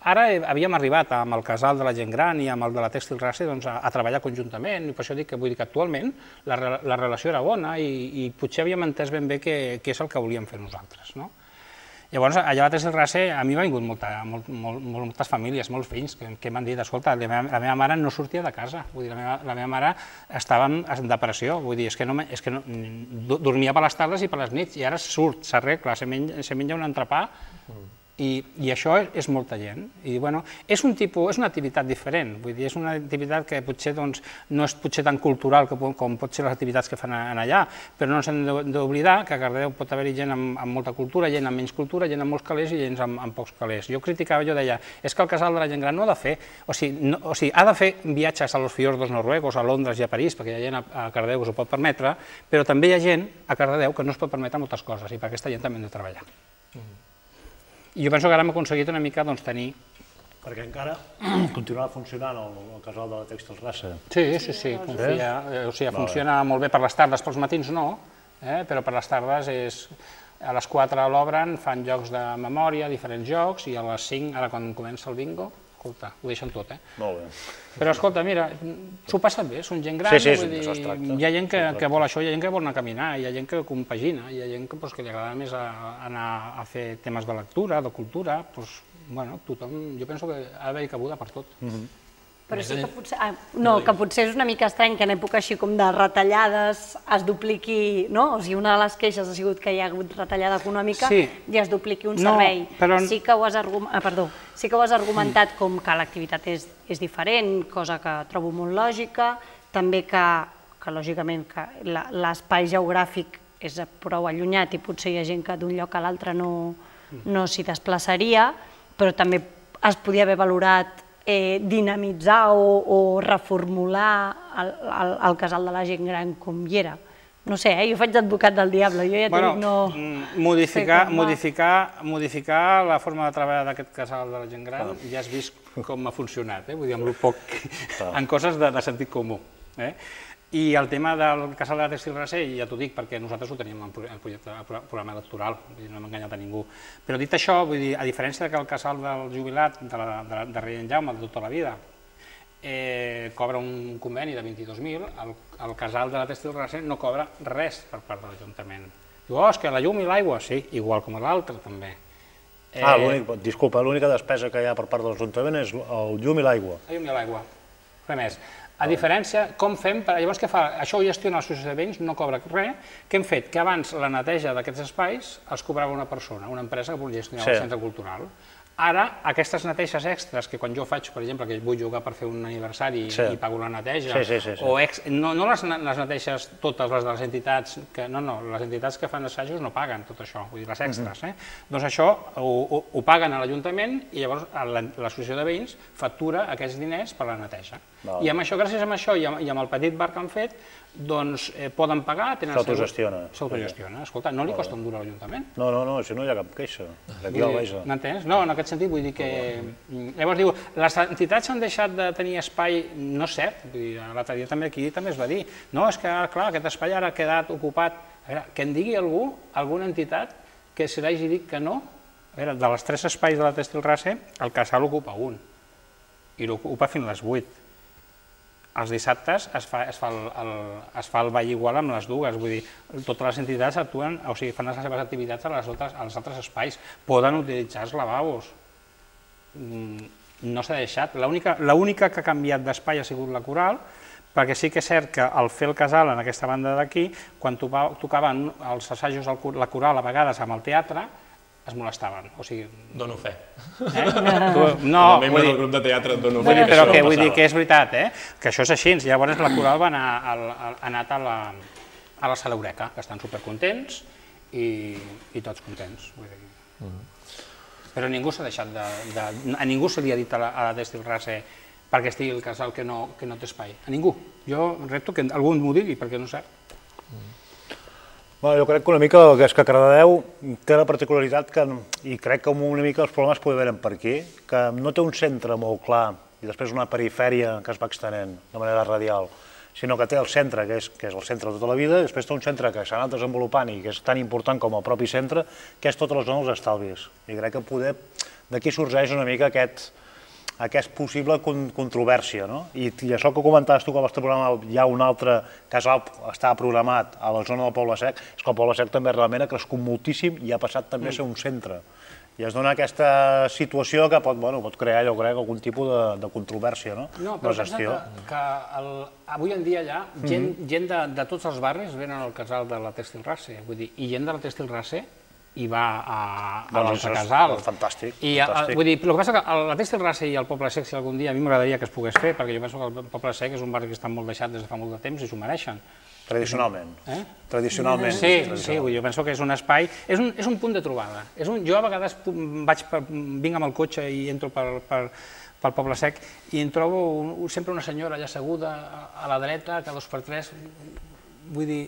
ara havíem arribat amb el casal de la Gent Gran i amb el de la Tèxtil Race a treballar conjuntament, i per això dic que actualment la relació era bona i potser havíem entès ben bé què és el que volíem fer nosaltres. Llavors, allà a la Testil Rase a mi m'ha vingut moltes famílies, molts fills, que m'han dit, escolta, la meva mare no sortia de casa, vull dir, la meva mare estava en depressió, vull dir, és que dormia per les tardes i per les nits, i ara surt, s'arregla, se menja un entrepà, i això és molta gent. I, bueno, és un tipus, és una activitat diferent, vull dir, és una activitat que potser no és potser tan cultural com pot ser les activitats que fan allà, però no ens hem d'oblidar que a Cardedeu pot haver-hi gent amb molta cultura, gent amb menys cultura, gent amb molts calés i gent amb pocs calés. Jo criticava, jo deia, és que el casal de la gent gran no ha de fer, o sigui, ha de fer viatges a los fiordos noruegos, a Londres i a París, perquè hi ha gent a Cardedeu que s'ho pot permetre, però també hi ha gent a Cardedeu que no es pot permetre moltes coses, i per aquesta gent també hem de treballar. I jo penso que ara hem aconseguit una mica tenir... Perquè encara continuarà funcionant el casal de la Tèxtil Rase. Sí, sí, sí, confia. O sigui, funciona molt bé per les tardes, pels matins no, però per les tardes és... A les quatre l'obren, fan jocs de memòria, diferents jocs, i a les cinc, ara quan comença el bingo, escolta, ho deixen tot, eh? Molt bé. Però escolta, mira, s'ho passen bé, són gent gran, vull dir, hi ha gent que vol això, hi ha gent que vol anar a caminar, hi ha gent que compagina, hi ha gent que li agrada més anar a fer temes de lectura, de cultura, doncs, bueno, tothom, jo penso que ha d'haver-hi cabuda per tot. Però sí que potser, no, que potser és una mica estrany que en època així com de retallades es dupliqui, no? O sigui, una de les queixes ha sigut que hi ha hagut retallada econòmica i es dupliqui un servei. Sí que ho has argumentat com que l'activitat és diferent, cosa que trobo molt lògica, també que, lògicament, l'espai geogràfic és prou allunyat i potser hi ha gent que d'un lloc a l'altre no s'hi desplaçaria, però també es podia haver valorat dinamitzar o reformular el casal de la gent gran com hi era. No sé, jo faig d'advocat del diable, jo ja t'ho dic, no... Modificar la forma de treballar d'aquest casal de la gent gran, ja has vist com ha funcionat, vull dir, amb el poc, en coses de sentit comú. I el tema del casal de la Tèxtil Rase, ja t'ho dic, perquè nosaltres ho teníem en el programa electoral, no hem enganyat a ningú. Però dit això, vull dir, a diferència que el casal del jubilat de Rei en Jaume de tota la vida cobra un conveni de vint-i-dos mil, el casal de la Tèxtil Rase no cobra res per part de l'Ajuntament. Diu, oh, és que la llum i l'aigua, sí, igual com l'altre també. Ah, disculpa, l'única despesa que hi ha per part de l'Ajuntament és el llum i l'aigua. El llum i l'aigua, res més. A diferència, com fem, llavors què fa? Això ho gestiona l'associació de veïns, no cobra res. Què hem fet? Que abans la neteja d'aquests espais els cobrava una persona, una empresa que volia gestionar el centre cultural. Ara, aquestes neteges extres, que quan jo faig, per exemple, que vull jugar per fer un aniversari i pago la neteja, o no les neteges totes les de les entitats, no, no, les entitats que fan assajos no paguen tot això, vull dir, les extres. Doncs això ho paguen a l'Ajuntament i llavors l'associació de veïns factura aquests diners per la neteja. I amb això, gràcies a això i amb el petit bar que han fet, doncs poden pagar... S'autogestiona. S'autogestiona. Escolta, no li costa un duro a l'Ajuntament. No, no, no, si no hi ha cap queixa. M'entens? No, en aquest sentit vull dir que... Llavors diu, les entitats han deixat de tenir espai, no és cert, l'altre dia també aquí també es va dir, no, és que, clar, aquest espai ara ha quedat ocupat. A veure, que en digui algú, alguna entitat, que se l'hagi dit que no. A veure, de les tres espais de la Tèxtil Rase, el casal ocupa un, i l'ocupa fins a les vuit. Els dissabtes es fa el ball igual amb les dues, vull dir, totes les entitats actuen, o sigui, fan les seves activitats als altres espais, poden utilitzar els lavabos. No s'ha deixat, l'única que ha canviat d'espai ha sigut la Coral, perquè sí que és cert que al fer el casal en aquesta banda d'aquí, quan tocaven els assajos la Coral a vegades amb el teatre, es molestaven, o sigui... Dono fe. No, com a membre del grup de teatre dono fe que però això vull dir que és veritat, que això és així. Llavors la Coral va anar a la Sala Eureka, que estan supercontents i tots contents. Però ningú s'ha deixat de... A ningú se li ha dit a la Tèxtil Rase perquè estigui el casal que no té espai. A ningú. Jo repto que algú m'ho digui, perquè no és cert. Jo crec que una mica és que Cardedeu té la particularitat que, i crec que una mica els problemes poden haver per aquí, que no té un centre molt clar i després una perifèria que es va extenent de manera radial, sinó que té el centre, que és el centre de tota la vida, i després té un centre que s'ha anat desenvolupant i que és tan important com el propi centre, que és tota la zona dels estalvis. I crec que poder d'aquí sorgeix una mica aquest aquesta possible controvèrsia. I això que comentaves tu que al vostre programa hi ha un altre casal que està programat a la zona del Poble Sec, és que el Poble Sec també realment ha crescut moltíssim i ha passat també a ser un centre. I es dona aquesta situació que pot crear, jo crec, algun tipus de controvèrsia, no? No, però pensa que avui en dia allà gent de tots els barris venen al casal de la Tèxtil Race, i gent de la Tèxtil Race i va a l'altre casal. Fantàstic. Vull dir, el que passa que la Tèxtil Race i el Poble Sec, si algun dia, a mi m'agradaria que es pogués fer, perquè jo penso que el Poble Sec és un barri que està molt deixat des de fa molt de temps i s'ho mereixen. Tradicionalment. Tradicionalment. Sí, sí, jo penso que és un espai, és un punt de trobada. Jo a vegades vinc amb el cotxe i entro pel Poble Sec i em trobo sempre una senyora allà asseguda a la dreta, cada dos per tres, vull dir...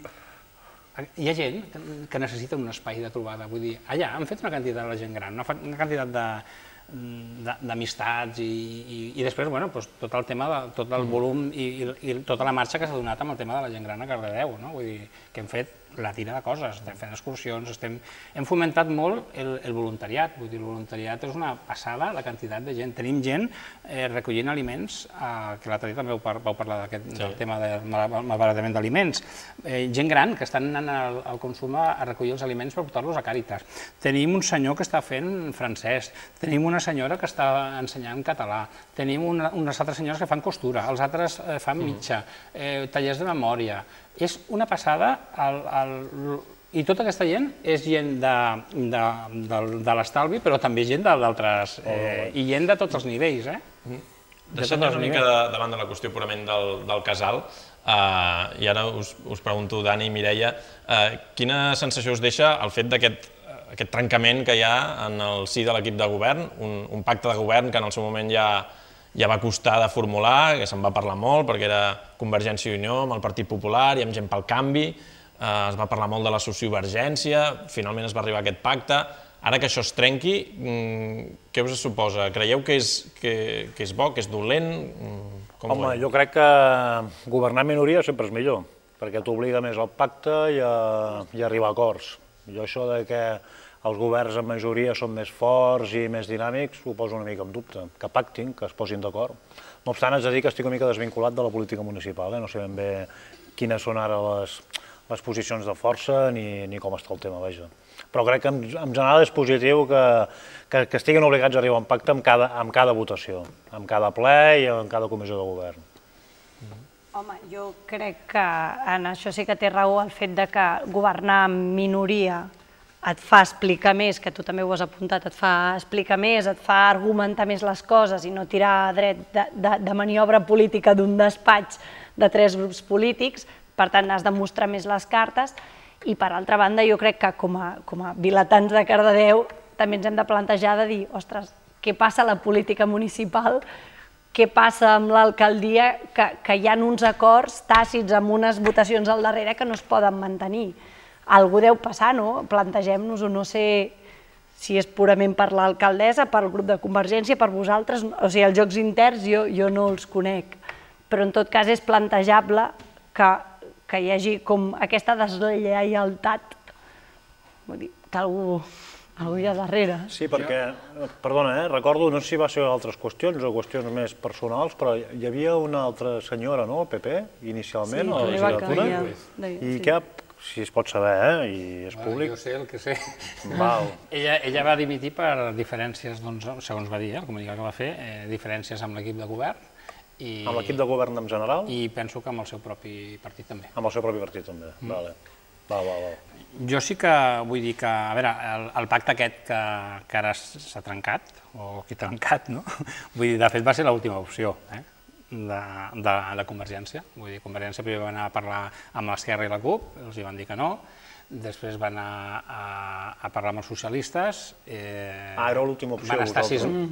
Hi ha gent que necessita un espai de trobada, vull dir, allà han fet una quantitat de gent gran, una quantitat d'amistats i després, bueno, tot el tema, tot el volum i tota la marxa que s'ha donat amb el tema de la gent gran a Cardedeu, no? Vull dir, que hem fet la tira de coses, estem fent excursions, hem fomentat molt el voluntariat, vull dir, el voluntariat és una passada, la quantitat de gent. Tenim gent recollint aliments, que l'altre dia també vau parlar del tema del malbaratament d'aliments, gent gran que estan anant al consum a recollir els aliments per portar-los a Càritas. Tenim un senyor que està fent francès, tenim una senyora que està ensenyant català, tenim unes altres senyores que fan costura, els altres fan mitja, tallers de memòria. És una passada, i tota aquesta gent és gent de l'estalvi, però també gent d'altres, i gent de tots els nivells. Deixant-nos una mica davant de la qüestió purament del casal, i ara us pregunto, Dani i Mireia, quina sensació us deixa el fet d'aquest aquest trencament que hi ha en el si de l'equip de govern, un pacte de govern que en el seu moment ja ja va costar de formular, que se'n va parlar molt, perquè era Convergència i Unió amb el Partit Popular i amb Gent pel Canvi, es va parlar molt de la sociovergència, finalment es va arribar a aquest pacte. Ara que això es trenqui, què us suposa? Creieu que és bo, que és dolent? Home, jo crec que governar en minoria sempre és millor, perquè t'obliga més al pacte i a arribar a acords. Jo això que els governs en majoria són més forts i més dinàmics, ho poso una mica en dubte, que pactin, que es posin d'acord. No obstant, haig de dir que estic una mica desvinculat de la política municipal, no sé ben bé quines són ara les posicions de força ni com està el tema, vaja. Però crec que en general és positiu que estiguin obligats a arribar a un pacte amb cada votació, amb cada ple i amb cada comissió de govern. Home, jo crec que en això sí que té raó el fet de que governar en minoria et fa explicar més, que tu també ho has apuntat, et fa explicar més, et fa argumentar més les coses i no tirar dret de maniobra política d'un despatx de tres grups polítics, per tant has de mostrar més les cartes i per altra banda jo crec que com a vilatans de Cardedeu també ens hem de plantejar de dir, ostres, què passa a la política municipal, què passa amb l'alcaldia, que hi ha uns acords tàcits amb unes votacions al darrere que no es poden mantenir. Algú deu passar, no? Plantegem-nos-ho, no sé si és purament per l'alcaldessa, per el grup de Convergència, per vosaltres, o sigui, els jocs interns jo no els conec, però en tot cas és plantejable que hi hagi com aquesta deslleialtat, vull dir, que algú hi ha darrere. Sí, perquè, perdona, recordo, no sé si va ser altres qüestions o qüestions més personals, però hi havia una altra senyora, no?, el P P, inicialment, a la legislatura, i què si es pot saber, i és públic. Jo sé el que sé. Ella va dimitir per diferències, segons va dir, el comunicat que va fer, diferències amb l'equip de govern. Amb l'equip de govern en general? I penso que amb el seu propi partit també. Amb el seu propi partit també, vale. Val, val, val. Jo sí que vull dir que, a veure, el pacte aquest que ara s'ha trencat, o que ha trencat, no? Vull dir, de fet va ser l'última opció, eh? de Convergència. Vull dir, Convergència primer va anar a parlar amb l'Esquerra i la CUP, els hi van dir que no, després van anar a parlar amb els socialistes. Ah, era l'última opció.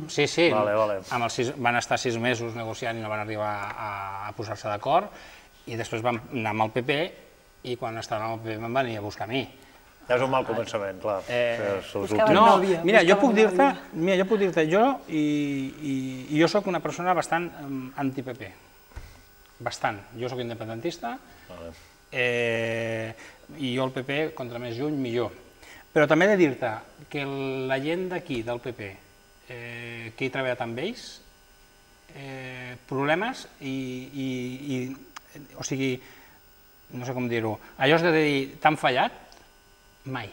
Sí, sí, van estar sis mesos negociant i no van arribar a posar-se d'acord, i després van anar amb el P P, i quan estaven amb el P P em van venir a buscar a mi. És un mal començament, clar. No, mira, jo puc dir-te, mira, jo puc dir-te, jo, i jo soc una persona bastant anti-P P. Bastant. Jo soc independentista, i jo el P P, contra més juny, millor. Però també he de dir-te que la gent d'aquí, del P P, que he treballat amb ells, problemes i, o sigui, no sé com dir-ho, allò és de dir, t'han fallat? Mai.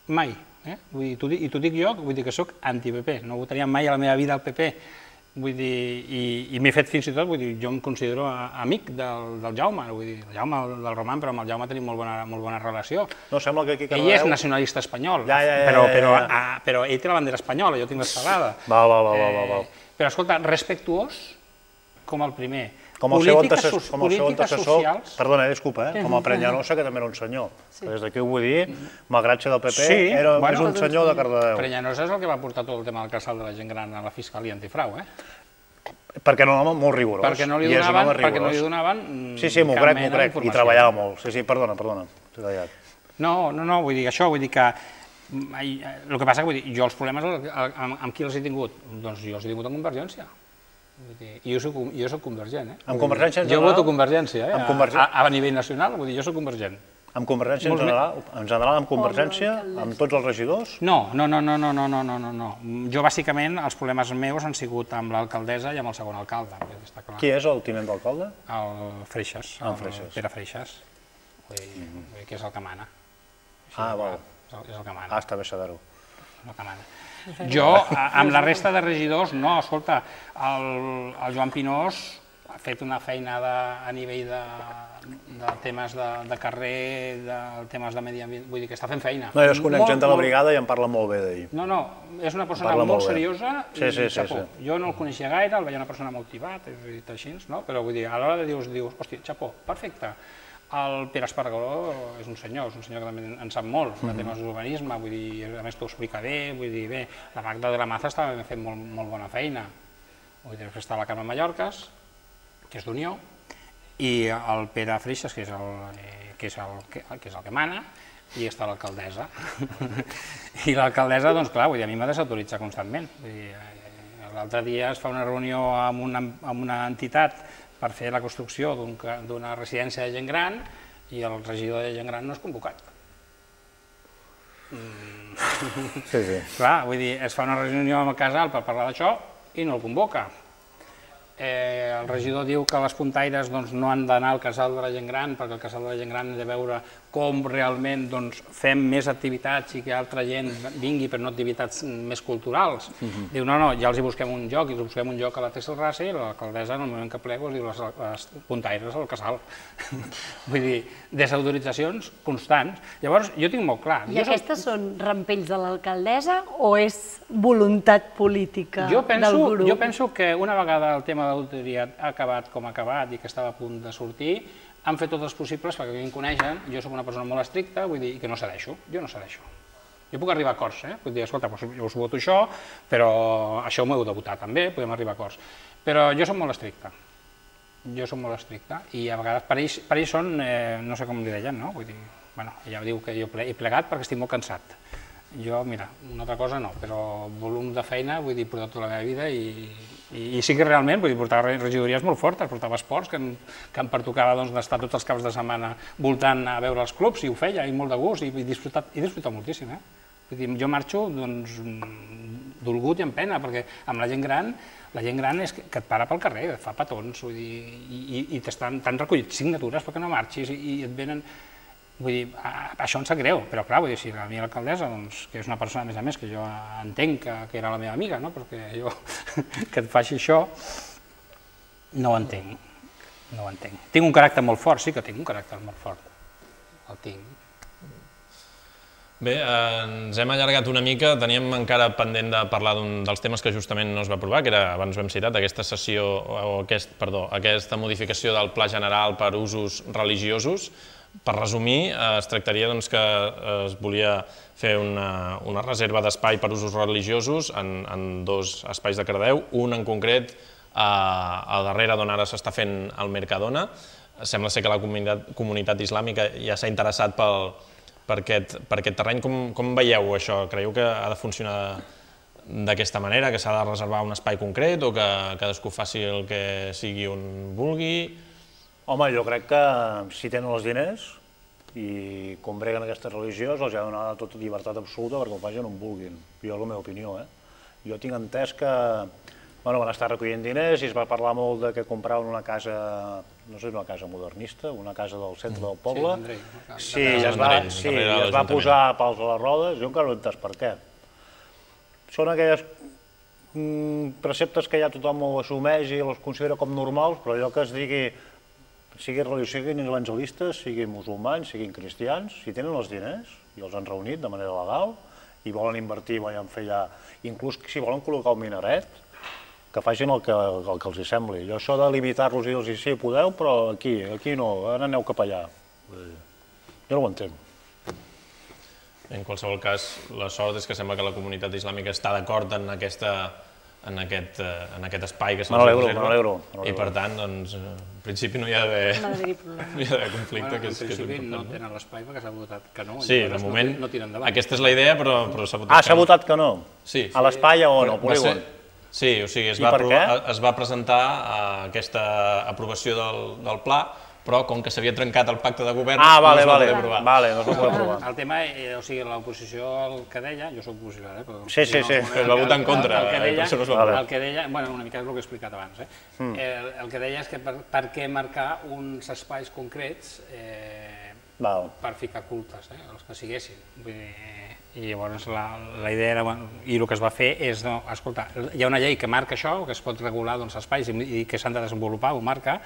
Mai. I t'ho dic jo, vull dir que soc anti-P P, no votaria mai a la meva vida al P P. Vull dir, i m'he fet fins i tot, vull dir, jo em considero amic del Jaume, vull dir, el Jaume del Roman, però amb el Jaume tenim molt bona relació. No, sembla que aquí Cardedeu... Ell és nacionalista espanyol, però ell té la bandera espanyola, jo tinc l'estelada. Val, val, val, val. Però, escolta, respectuós com el primer. Com el seu antecessor, perdona, disculpa, com el Prenyanosa, que també era un senyor. Des d'aquí ho vull dir, malgrat ser del P P, és un senyor de Cardedeu. Prenyanosa és el que va portar tot el tema del casal de la gent gran a la Fiscalia Antifrau, eh? Perquè no era molt rigorós. Perquè no li donaven... Sí, sí, m'ho crec, m'ho crec, i treballava molt. Sí, sí, perdona, perdona, t'he tallat. No, no, no, vull dir això, vull dir que... El que passa que jo els problemes amb qui els he tingut? Doncs jo els he tingut amb Convergència. I jo soc convergent, eh? Amb Convergència en general? Jo voto Convergència, eh? A nivell nacional, vull dir, jo soc convergent. Amb Convergència en general? En general amb Convergència? Amb tots els regidors? No, no, no, no, no, no, no, no. Jo, bàsicament, els problemes meus han sigut amb l'alcaldessa i amb el segon alcalde. Qui és el tinent d'alcalde? El Freixas, el Pere Freixas, que és el que mana. Ah, val. És el que mana. Ah, està bé saber-ho. El que mana. Jo, amb la resta de regidors, no, escolta, el Joan Pinós ha fet una feinada a nivell de temes de carrer, de temes de medi ambient, vull dir que està fent feina. No, jo es conec gent de la brigada i em parla molt bé d'ell. No, no, és una persona molt seriosa i xapó. Jo no el coneixia gaire, el veia una persona molt tibat, he dit així, però vull dir, a l'hora de dius, hòstia, xapó, perfecte. El Pere Espargaró és un senyor, és un senyor que també en sap molt de temes d'urbanisme, vull dir, a més t'ho explica bé, vull dir, bé, la Magda de la Maza estava fent molt bona feina. Vull dir, està la Carme Mallorcas, que és d'Unió, i el Pere Freixas, que és el que mana, i està l'alcaldessa. I l'alcaldessa, doncs clar, vull dir, a mi m'ha desautoritzat constantment. L'altre dia es fa una reunió amb una entitat per fer la construcció d'una residència de gent gran i el regidor de gent gran no és convocat. Sí, sí. Clar, vull dir, es fa una reunió amb el casal per parlar d'això i no el convoca. El regidor diu que les puntaires no han d'anar al casal de la gent gran perquè el casal de la gent gran ha de veure com realment fem més activitats i que altra gent vingui, però no activitats més culturals. Diu, no, no, ja els hi busquem un lloc, i els busquem un lloc a la Texelrassa i l'alcaldessa, en el moment que plego, es diu les puntaires al casal. Vull dir, desautoritzacions constants. Llavors, jo tinc molt clar... I aquestes són rampells de l'alcaldessa o és voluntat política del grup? Jo penso que una vegada el tema de l'auditoria ha acabat com ha acabat i que estava a punt de sortir, han fet tots els possibles perquè mi em coneixen, jo soc una persona molt estricta, vull dir, que no cedeixo, jo no cedeixo. Jo puc arribar a acords, eh? Vull dir, escolta, jo us voto això, però això m'ho heu de votar també, podem arribar a acords. Però jo soc molt estricta, jo soc molt estricta, i a vegades per ells són, no sé com li deien, no? Vull dir, bueno, ja diu que jo he plegat perquè estic molt cansat. Jo, mira, una altra cosa no, però volum de feina, vull dir, portar tota la meva vida i sí que realment, vull dir, portava regidories molt fortes, portava esports que em pertocava d'estar tots els caps de setmana voltant a veure els clubs i ho feia, i molt de gust, i he disfrutat moltíssim, eh? Vull dir, jo marxo, doncs, dolgut i amb pena, perquè amb la gent gran, la gent gran és que et para pel carrer, et fa petons, vull dir, i t'han recollit signatures perquè no marxis i et venen... Vull dir, això em sap greu, però clar, vull dir, si la meva alcaldessa, que és una persona, a més a més, que jo entenc que era la meva amiga, no?, perquè jo, que et faci això, no ho entenc, no ho entenc. Tinc un caràcter molt fort, sí que tinc un caràcter molt fort, el tinc. Bé, ens hem allargat una mica, teníem encara pendent de parlar d'un dels temes que justament no es va aprovar, que era, abans ho hem citat, aquesta sessió, o aquest, perdó, aquesta modificació del Pla General per usos religiosos. Per resumir, es tractaria que es volia fer una reserva d'espai per usos religiosos en dos espais de Cardedeu, un en concret a darrere d'on ara s'està fent el Mercadona. Sembla ser que la comunitat islàmica ja s'ha interessat per aquest terreny. Com veieu això? Creieu que ha de funcionar d'aquesta manera, que s'ha de reservar un espai concret o que cadascú faci el que sigui on vulgui? Home, jo crec que si tenen els diners i combreguen aquesta religió, els ha de donar tota llibertat absoluta perquè ho facin on vulguin. Jo és la meva opinió, eh? Jo tinc entès que van estar recollint diners i es va parlar molt de que compraven una casa, no sé, una casa modernista, una casa del centre del poble. Sí, i es va posar pals a les rodes, jo encara no he entès per què. Són aquelles preceptes que ja tothom ho assumeix i els considera com normals, però allò que es digui, sigui religió, siguin evangelistes, siguin musulmans, siguin cristians, si tenen els diners i els han reunit de manera legal i volen invertir, volen fer allà, inclús si volen col·locar un minaret, que facin el que els hi sembli. Jo això de limitar-los i dir-los, sí, podeu, però aquí, aquí no, ara aneu cap allà. Jo no ho entenc. En qualsevol cas, la sort és que sembla que la comunitat islàmica està d'acord en aquest espai que se'ls reserva. I per tant, doncs, en principi no hi ha d'haver conflicte. En principi no tenen l'espai perquè s'ha votat que no. Sí, de moment, aquesta és la idea, però s'ha votat que no. Ah, s'ha votat que no? Sí. A l'espai o no, al polígon? Sí, o sigui, es va presentar aquesta aprovació del pla, però com que s'havia trencat el pacte de govern, no es va poder aprovar. Ah, vale, no es va poder aprovar. El tema, o sigui, l'oposició, el que deia, jo soc oposició, eh? Sí, sí, sí. Es va votar en contra, el que deia, bueno, una mica és el que he explicat abans, eh? El que deia és que per què marcar uns espais concrets per ficar cultes, els que siguessin. I llavors la idea era, i el que es va fer és, escolta, hi ha una llei que marca això, que es pot regular espais i que s'han de desenvolupar, ho marca,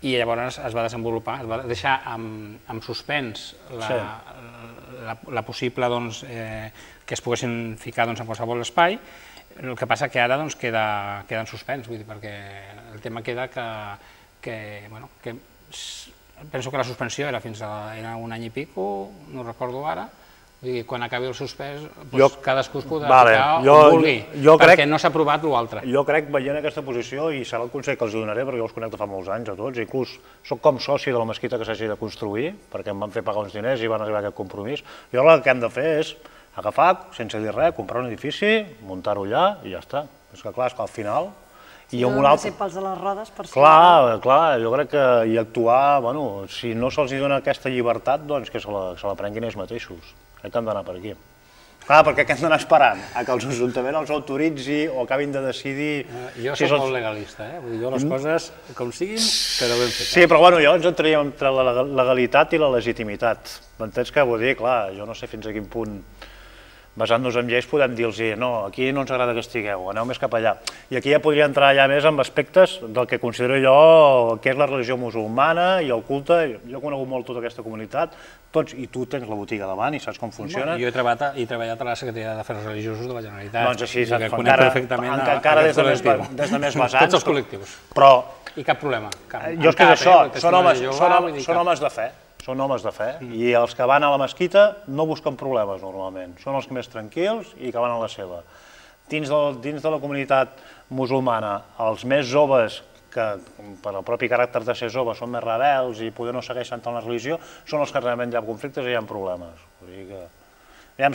i llavors es va desenvolupar, es va deixar en suspens la possible que es poguessin ficar en qualsevol espai. El que passa que ara queda en suspens, perquè el tema queda que, bueno, penso que la suspensió era fins a un any i pico, no recordo ara, quan acabi el suspès, cadascú es podrà ficar on vulgui, perquè no s'ha aprovat l'altre. Jo crec, veient aquesta posició, i serà el consell que els donaré, perquè jo els conec fa molts anys a tots, inclús soc com soci de la mesquita que s'hagi de construir, perquè em van fer pagar uns diners i van arribar a aquest compromís. Jo el que hem de fer és agafar, sense dir res, comprar un edifici, muntar-ho allà i ja està. És que clar, és que al final... Si no han de ser pals a les rodes per ser... Clar, clar, jo crec que hi actuar, bueno, si no se'ls dona aquesta llibertat, doncs que se la prenguin ells mateixos. Crec que hem d'anar per aquí. Clar, perquè què hem d'anar esperant? A que els ajuntaments els autoritzi o acabin de decidir... Jo soc molt legalista, eh? Vull dir, jo les coses, com siguin, quedar ben fetes. Sí, però bueno, jo ens entraríem entre la legalitat i la legitimitat. M'entens què vull dir? Clar, jo no sé fins a quin punt, basant-nos en lleis, podem dir-los no, aquí no ens agrada que estigueu, aneu més cap allà. I aquí ja podria entrar ja més en aspectes del que considero jo que és la religió musulmana i el culte. Jo he conegut molt tota aquesta comunitat, tots, i tu tens la botiga davant i saps com funciona. Jo he treballat a la Secretaria d'Afers Religiosos de la Generalitat. Doncs així, encara des de més vessants. Tots els col·lectius. I cap problema. Jo és que és això, són homes de fe. Són homes de fe, i els que van a la mesquita no busquen problemes normalment, són els més tranquils i que van a la seva. Dins de la comunitat musulmana, els més joves, que per el propi caràcter de ser joves són més rebels i poder no segueixen tant la religió, són els que realment hi ha conflictes i hi ha problemes.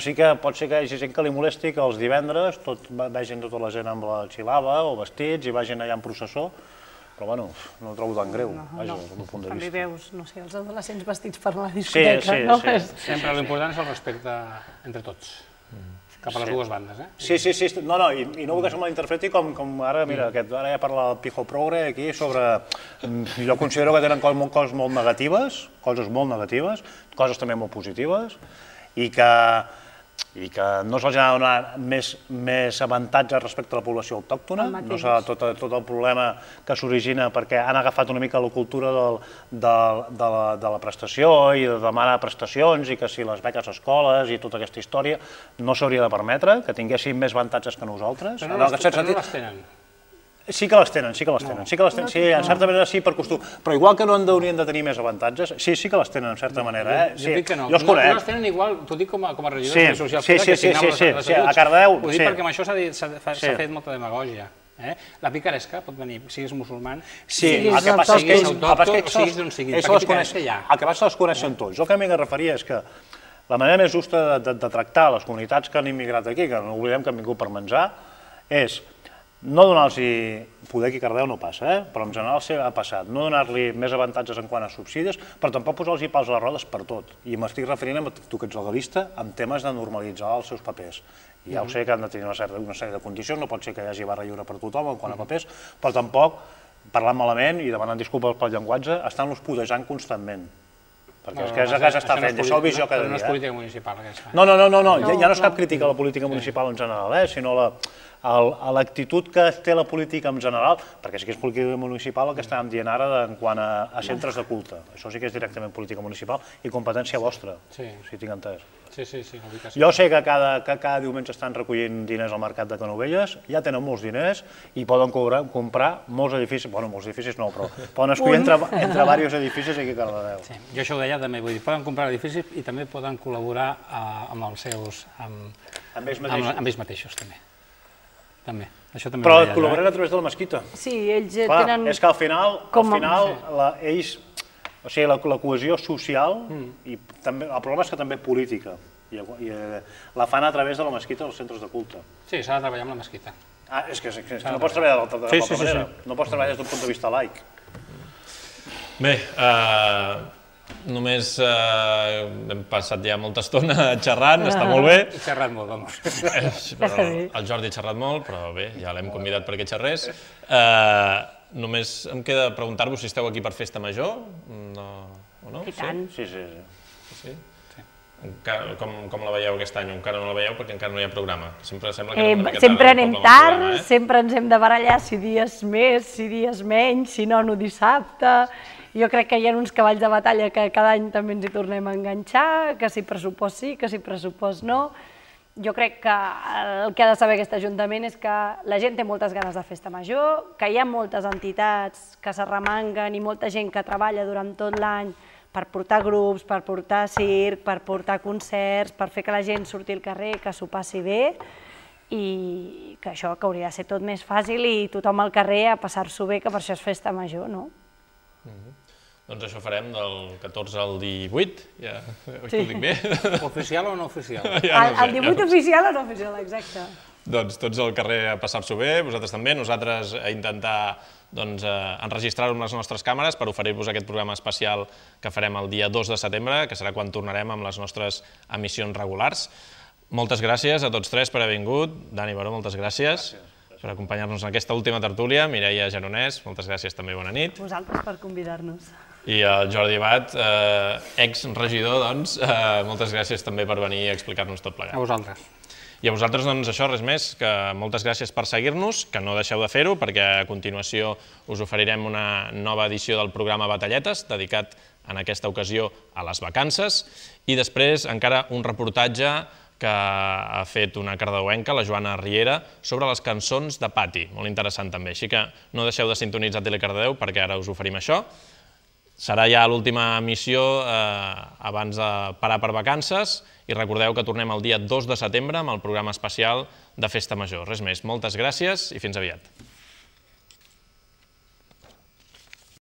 Sí que pot ser que hi hagi gent que li molesti que els divendres vegin tota la gent amb la xilava o vestits i vagin allà en processó, però bueno, no ho trobo tan greu, vaja, des del meu punt de vista. També veus, no sé, els adolescents vestits per la discoteca, no? Sempre l'important és el respecte entre tots, cap a les dues bandes, eh? Sí, sí, sí, no, no, i no vull que se malinterpreti com ara, mira, ara ja parla el Pijo Progre aquí sobre... Jo considero que tenen coses molt negatives, coses molt negatives, coses també molt positives, i que... i que no se'ls ha de donar més avantatges respecte a la població autòctona, no serà tot el problema que s'origina perquè han agafat una mica la cultura de la prestació i de demanar prestacions i que si les beques a escoles i tota aquesta història no s'hauria de permetre, que tinguessin més avantatges que nosaltres. Però no les tenen. Sí que les tenen, sí que les tenen, sí que les tenen, sí, en certa manera sí per costum, però igual que no haurien de tenir més avantatges, sí, sí que les tenen en certa manera, eh? Jo dic que no, no les tenen igual, t'ho dic com a regidor social, que signava les estatuts, a Cardedeu, ho dic perquè amb això s'ha fet molta demagògia. La picaresca pot venir, siguis musulman, siguis autòcton, siguis d'on siguis, perquè picaresca hi ha. El que passa se'ls coneixen tots. El que m'he de referir és que la manera més justa de tractar les comunitats que han immigrat aquí, que no oblidem que han vingut per menjar, és no donar-los poder aquí a Cardedeu no passa, eh? Però en general ha passat. No donar-li més avantatges en quant a subsidis, però tampoc posar-los pals a les rodes per tot. I m'estic referint, a tu que ets legalista, amb temes de normalitzar els seus papers. I ja ho sé que han de tenir una sèrie de condicions, no pot ser que hi hagi barra lliure per tothom en quant a papers, però tampoc, parlant malament i demanant disculpes pel llenguatge, estan-los pudejant constantment. Perquè és que és el que s'està fent, això ho veig jo cada dia. No és política municipal, aquesta. No, no, no, ja no és cap crítica a la política municipal en general, sinó a l'actitud que té la política en general, perquè sí que és política municipal el que estàvem dient ara en quant a centres de culte. Això sí que és directament política municipal i competència vostra, si tinc entès. Sí, sí, sí. Jo sé que cada diumenge estan recollint diners al mercat de Canovelles, ja tenen molts diners i poden comprar molts edificis, bueno, molts edificis no, però poden escollir entre diversos edificis aquí a Cardedeu. Jo això ho deia també, vull dir, poden comprar edificis i també poden col·laborar amb els seus... amb ells mateixos, també. També, això també ho deia. Però col·laboren a través de la mesquita. Sí, ells tenen... És que al final, ells... O sigui, la cohesió social, i el problema és que també política, i la fan a través de la mesquita dels centres de culte. Sí, s'ha de treballar amb la mesquita. Ah, és que no pots treballar de l'altra manera, no pots treballar des d'un punt de vista laic. Bé, només hem passat ja molta estona xerrant, està molt bé. He xerrat molt, vamos. El Jordi ha xerrat molt, però bé, ja l'hem convidat perquè xerrés. Només em queda preguntar-vos si esteu aquí per Festa Major, o no? I tant. Sí, sí, sí. Com la veieu aquest any? Encara no la veieu perquè encara no hi ha programa. Sempre sembla que anem una mica tard. Sempre anem tard, sempre ens hem de barallar si dies més, si dies menys, si no, no dissabte. Jo crec que hi ha uns cavalls de batalla que cada any també ens hi tornem a enganxar, que si pressupost sí, que si pressupost no. Jo crec que el que ha de saber aquest Ajuntament és que la gent té moltes ganes de Festa Major, que hi ha moltes entitats que s'arremanguen i molta gent que treballa durant tot l'any per portar grups, per portar circ, per portar concerts, per fer que la gent surti al carrer, que s'ho passi bé, i que això que hauria de ser tot més fàcil i tothom al carrer a passar-s'ho bé, que per això és Festa Major, no? Doncs això farem del catorze al divuit, ja ho dic bé. Oficial o no oficial? El divuit oficial o no oficial, exacte. Doncs tots al carrer a passar-s'ho bé, vosaltres també, nosaltres a intentar enregistrar-ho amb les nostres càmeres per oferir-vos aquest programa especial que farem el dia dos de setembre, que serà quan tornarem amb les nostres emissions regulars. Moltes gràcies a tots tres per haver vingut. Dani Baró, moltes gràcies per acompanyar-nos en aquesta última tertúlia. Mireia Geronès, moltes gràcies també, bona nit. Vosaltres per convidar-nos. I el Jordi Abad, ex-regidor, doncs, moltes gràcies també per venir a explicar-nos tot plegat. A vosaltres. I a vosaltres, doncs, això, res més, que moltes gràcies per seguir-nos, que no deixeu de fer-ho, perquè a continuació us oferirem una nova edició del programa Batalletes, dedicat en aquesta ocasió a les vacances, i després encara un reportatge que ha fet una cardedeuenca, la Joana Riera, sobre les cançons de pati, molt interessant també. Així que no deixeu de sintonitzar Tele Cardedeu, perquè ara us oferim això. Serà ja l'última emissió abans de parar per vacances i recordeu que tornem el dia dos de setembre amb el programa especial de Festa Major. Res més, moltes gràcies i fins aviat.